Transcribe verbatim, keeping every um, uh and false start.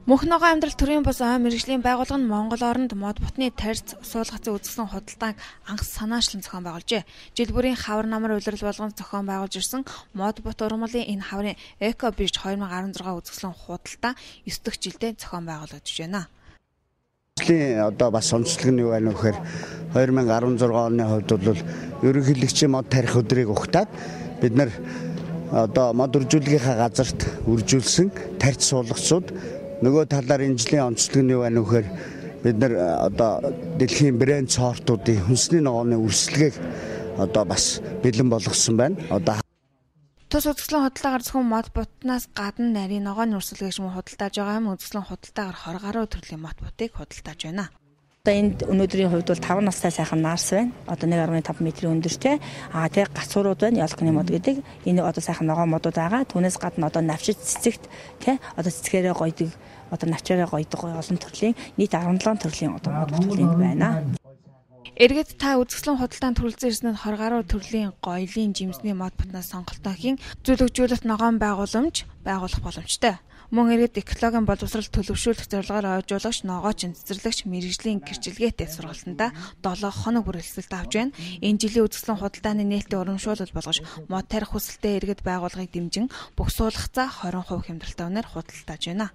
Мөнх ногоон амьдрал төрийн бус ой мэргэжлийн байгууллага нь Монгол оронд мод бутны тарьц суулгацын үзэсгэлэн худалдааг анх санаачлан зохион байгуулжээ. Жил бүрийн хавар намар улирал болгон зохион байгуулж ирсэн мод бут ургамлын энэ хаврын Эко Бирж две тысячи десять үзэсгэлэн худалдаа ёс дох жилдээ зохион байгуулагдаж байна. Одоо бас онцлог нь юу байна вэ гэхээр две тысячи десять оны хувьд бол ерөнхийлөгчийн мод тарих өдрийг ухтаад бид нар одоо мод үржүүлгийнхаа газарт үржүүлсэн тарьц суулгацууд нөгөө талаар энэ жилийн онцлог нь юу байна вэ гэхээр бид нар одоо дэлхийн брэнд сортуудын хүнсний ногооны үрсэлгээг одоо бас бэлэн болгосон байна. Одоо тус үзэсгэлэн худалдаагаар зөвхөн мод бутнаас гадна нарийн ногооны үрсэлгээг мөн худалдааж байгаа юм. Үзэсгэлэн худалдаагаар тwenty гаруй төрлийн мод бутыг худалдааж байна. Одоо энд өнөөдрийн хувьд бол five настай сайхан наарс байна. Одоо one point five метрийн өндөртэй. Аа тэг гацуурууд байна. Ялкны мод гэдэг. Энэ одоо сайхан ногоон модууд байгаа. Түүнээс гадна одоо навчид цэцэгт тий одоо цэцгээрээ гойдог, одоо навчаараа гойдог олон төрлийн нийт seventeen төрлийн одоо мод бүтээл байна. Эргээд та үзэсгэлэн худалдаанд төрөлцсөн ирсэнд twenty гаруй төрлийн гоёлын жимсний мод бутнаас сонголтоо хийн зөвлөгжүүлэлт ногоон байгууламж байгуулах боломжтой. Мөн эргээд экологийн боловсрол төлөвшүүлэх зорилгоор ойжуулагч, ногооч, цэцэрлэгч, мэргэжлийн гэрчлэгээтэй сургалтандаа seven хоног бүр хэлэлцэлт авч байна. Энэ жилийн үзэсгэлэн худалдааны нээлттэй урамшуулал болгож мод тарих хүсэлтэд эргээд байгууллагыг дэмжин бүх суулгацаа twenty percent хямдралтай үнээр худалдааж байна.